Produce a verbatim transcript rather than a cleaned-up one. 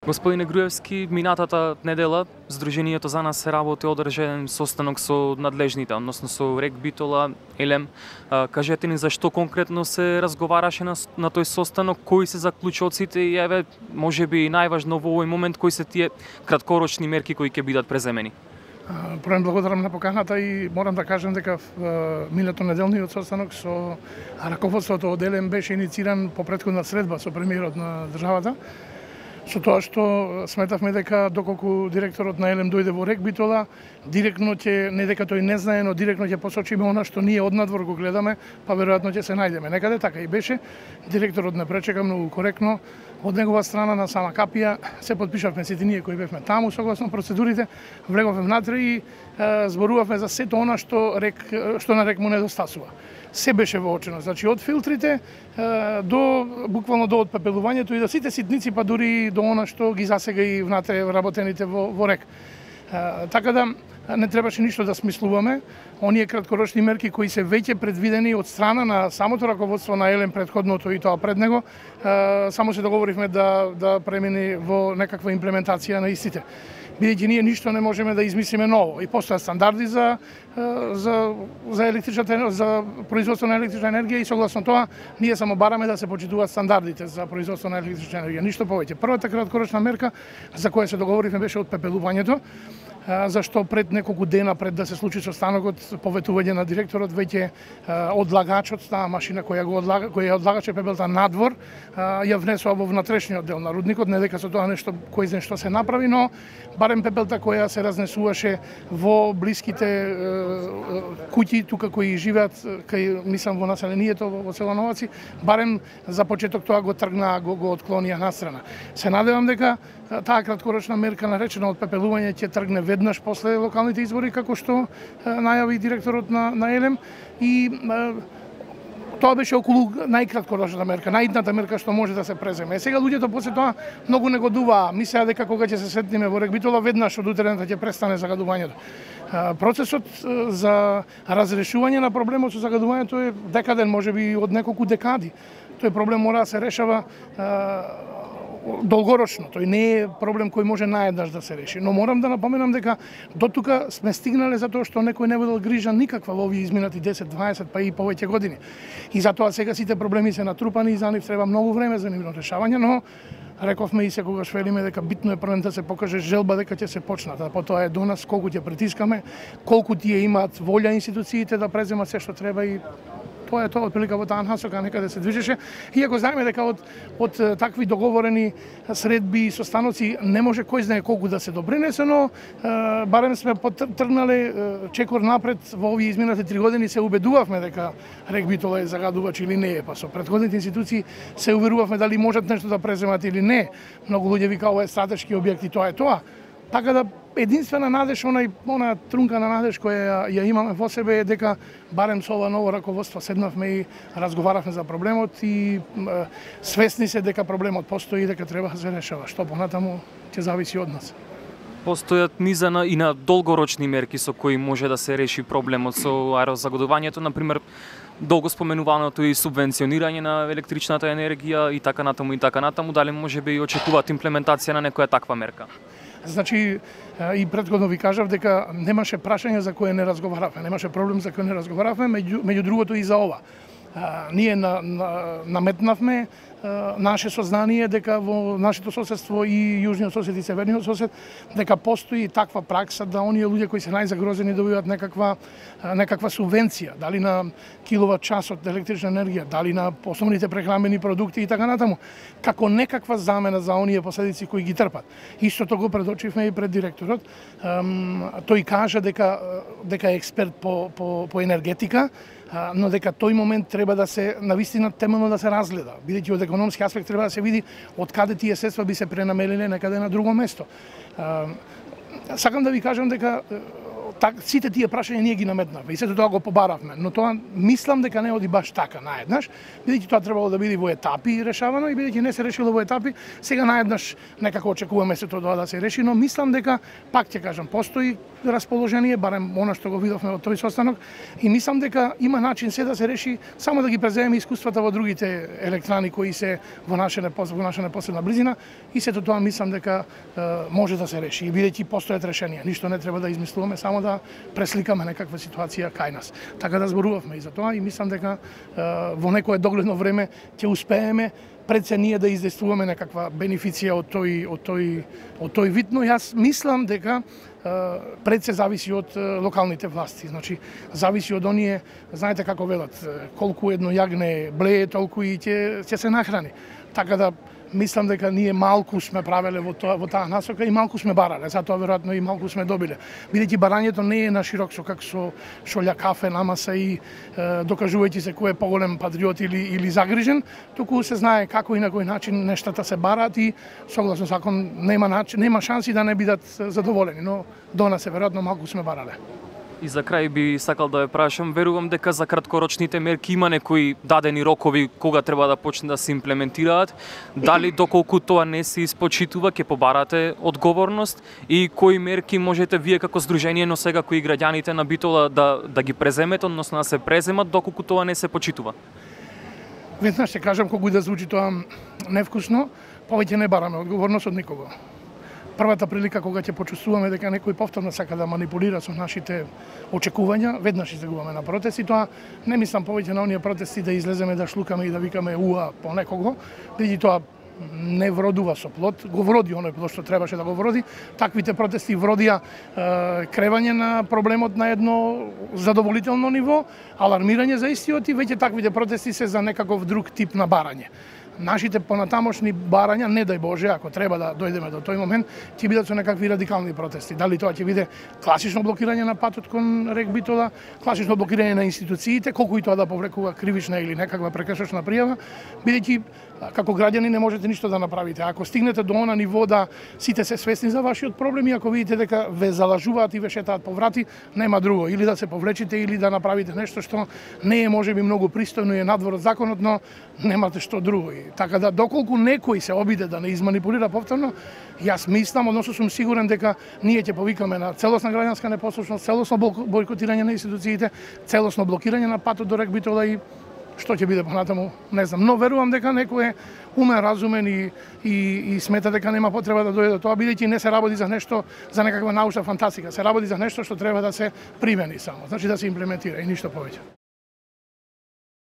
Господине Груевски, минатата недела Сдруженијето за нас се работи одржан состанок со надлежните, односно со РЕК Битола, Елем. Кажете ни зашто конкретно се разговараше на, на тој состанок, кои се заклучоците и еве, можеби најважно во овој момент, кои се тие краткорочни мерки кои ќе бидат преземени? Прво благодарам на поканата и морам да кажам дека минато неделниот состанок со раководството од Елем беше иницииран по претходна средба со премиерот на државата. Со тоа што сметавме дека доколку директорот на Елем дојде во РЕК Битола, директно ќе, не дека тој не знае, но директно ќе посочиме она што ние однадвор го гледаме, па веројатно ќе се најдеме. Некаде така и беше. Директорот не пречека, многу коректно. Од негова страна на сама капија се потпишавме сите ние кои бевме таму согласно процедурите, влеговме внатре и е, зборувавме за сето она што РЕК што на РЕК му недостасува. Се беше воочено, значи од филтрите е, до буквално до отпепелувањето и до сите ситници, па дури до она што ги засега и внатре работените во, во РЕК. Е, така да не требаше ништо да смислуваме. Оние краткорочни мерки кои се веќе предвидени од страна на самото раководство на Елем претходното и тоа пред него, е, само се договоривме да да премини во некаква имплементација на истите. Бидејќи ние ништо не можеме да измислиме ново и постојат стандарди за за за електричната за производство на електрична енергија и согласно тоа ние само бараме да се почитуваат стандардите за производство на електрична енергија, ништо повеќе. Првата краткорочна мерка за која се договоривме беше отпепелувањето, зашто пред неколку дена пред да се случи состанокот, поветување на директорот, веќе одлагачот, таа машина која го одлага, која одлагаше пепелта надвор, ја внесува во внатрешниот дел на рудникот, не дека со тоа нешто кој знае што се направи, но барем пепелта која се разнесуваше во блиските куќи тука кои живеат, кај мислам во населението во село Новаци, барем за почеток тоа го тргнаа, го, го отклонија настрана. Се надевам дека таа краткорочна мерка наречена отпепелување ќе тргне веднаш после локалните избори, како што најави директорот на, на Елем, и е, тоа беше околу најкраткорочната мерка, најидната мерка што може да се преземе. Сега луѓето после тоа многу негодуваа, мислеа дека кога ќе се сретнеме во РЕК Битола веднаш од утрента ќе престане загадувањето. Процесот за разрешување на проблемот со загадувањето е декаден, можеби од неколку декади. Тој проблем мора да се решава долгорочно. Тој не е проблем кој може наеднаш да се реши. Но морам да напоменам дека до тука сме стигнале затоа што некој не водел грижа никаква во овие изминати десет, дваесет па и повеќе години. И затоа сега сите проблеми се натрупани и за нив треба многу време за нивно решавање, но рековме и секогаш велиме дека битно е првен да се покаже желба дека ќе се почнат, а потоа е до нас колку ќе притискаме, колку тие имаат волја институциите да преземат се што треба и тоа е тоа отприлика во таа насока некаде се движеше. Иако знаеме дека од од такви договорени средби и состаноци не може кој знае колку да се допринесе, но е, барем сме потргнале чекор напред во овие изминати три години, се убедувавме дека РЕК Битола е загадувач или не е, па со претходните институции се уверувавме дали можат нешто да преземат или не. Многу луѓе вика ова е стратешки објект и тоа е тоа. Така да единствена надеж, онај она трунка на надеж која ја имаме во себе е дека барем со ова ново раководство седнавме и разговаравме за проблемот и е, свесни се дека проблемот постои и дека треба да се решава. Што понатаму ќе зависи од нас. Постојат низа на, и на долгорочни мерки со кои може да се реши проблемот со аерозагадувањето, например долго споменуваното и субвенционирање на електричната енергија и така натаму и така натаму, дали можеби и очекуваат имплементација на некоја таква мерка? Значи, и предходно ви кажав дека немаше прашање за кое не разговаравме, немаше проблем за кој не разговаравме, меѓу, меѓу другото и за ова. А, ние на, на, наметнавме а, наше сознание дека во нашето соседство и јужниот сосед и северниот сосед дека постои таква пракса да оние луѓе кои се најзагрозени добиваат некаква некаква субвенција, дали на киловат час од електрична енергија, дали на основните прехранбени продукти и така натаму, како некаква замена за оние последици кои ги трпат. Истото го предочивме и пред директорот. Тој кажа дека дека е експерт по по по енергетика, но дека тој момент треба да се навистина темелно да се разгледа, бидејќи од економски аспект треба да се види од каде тие средства би се пренамериле некаде на друго место. Сакам да ви кажам дека так, сите тие прашања ние ги наметнавме и сето тоа го побаравме, но тоа мислам дека не оди баш така наеднаш, бидејќи тоа требало да биде во етапи решавано и бидејќи не се решило во етапи, сега наеднаш некако очекуваме сето тоа да се реши, но мислам дека пак ќе кажам постои расположение, барем она што го видовме во тој состанок и мислам дека има начин се да се реши, само да ги преземеме искуствата во другите електрани кои се во наша во наша непосредна близина и сето тоа мислам дека е, може да се реши и бидејќи постојат решенија, ништо не треба да измислуваме, само да пресликаме некаква ситуација кај нас. Така да зборувавме и за тоа и мислам дека е, во некое догледно време ќе успееме пред се ние да издействуваме некаква бенефиција од тој од тој од тој вид, но јас мислам дека пред се зависи од локалните власти. Значи, зависи од оние, знаете како велат, колку едно јагне блее, толку и ќе ќе се нахрани. Така да мислам дека ние малку сме правеле во тоа во таа насока и малку сме барале, затоа веројатно и малку сме добиле. Бидејќи барањето не е на широк со како со шолја кафе намаса и е, докажувајќи се кој е поголем патриот или или загрижен, туку се знае како и на кој начин нештата се бараат и согласно закон нема начин, нема шанси да не бидат задоволени, но до нас е веројатно малку сме барале. И за крај би сакал да ве прашам, верувам дека за краткорочните мерки има некои дадени рокови кога треба да почне да се имплементираат. Дали доколку тоа не се испочитува ќе побарате одговорност и кои мерки можете вие како здружение, но сега кои граѓаните на Битола да да ги преземете, односно да се преземат доколку тоа не се почитува? Веднаш ќе кажам колку да звучи тоа невкусно, повеќе не бараме одговорност од никого. Првата прилика кога ќе почувствуваме дека некој повторно сака да манипулира со нашите очекувања, веднаш излегуваме на протести. Тоа не мислам повеќе на оние протести да излеземе да шлукаме и да викаме уа по некого, бидејќи тоа не вродува со плод, го вроди оној плод што требаше да го вроди. Таквите протести вродија е, кревање на проблемот на едно задоволително ниво, алармирање за истиот и веќе таквите протести се за некаков друг тип на барање. Нашите понатамошни барања, не дај Боже, ако треба да дојдеме до тој момент, ќе бидат со некакви радикални протести. Дали тоа ќе биде класично блокирање на патот кон рек Битола, класично блокирање на институциите, колку и тоа да повлекува кривична или некаква прекршочна пријава, бидејќи како граѓани не можете ништо да направите. Ако стигнете до она ниво да сите се свесни за вашиот проблем и ако видите дека ве залажуваат и ве шетаат по врати, нема друго, или да се повлечите или да направите нешто што не е можеби многу пристојно и е надвор од законот, но немате што друго. Така да доколку некој се обиде да не изманипулира повторно, јас мислам, односно сум сигурен дека ние ќе повикаме на целосна граѓанска непослушност, целосно бојкотирање на институциите, целосно блокирање на патот до рек Битола и што ќе биде понатаму, не знам, но верувам дека некој е умен, разумен и, и, и смета дека нема потреба да дојде до тоа, бидејќи не се работи за нешто, за некаква научна фантастика, се работи за нешто што треба да се примени само, значи да се имплементира и ништо повеќе.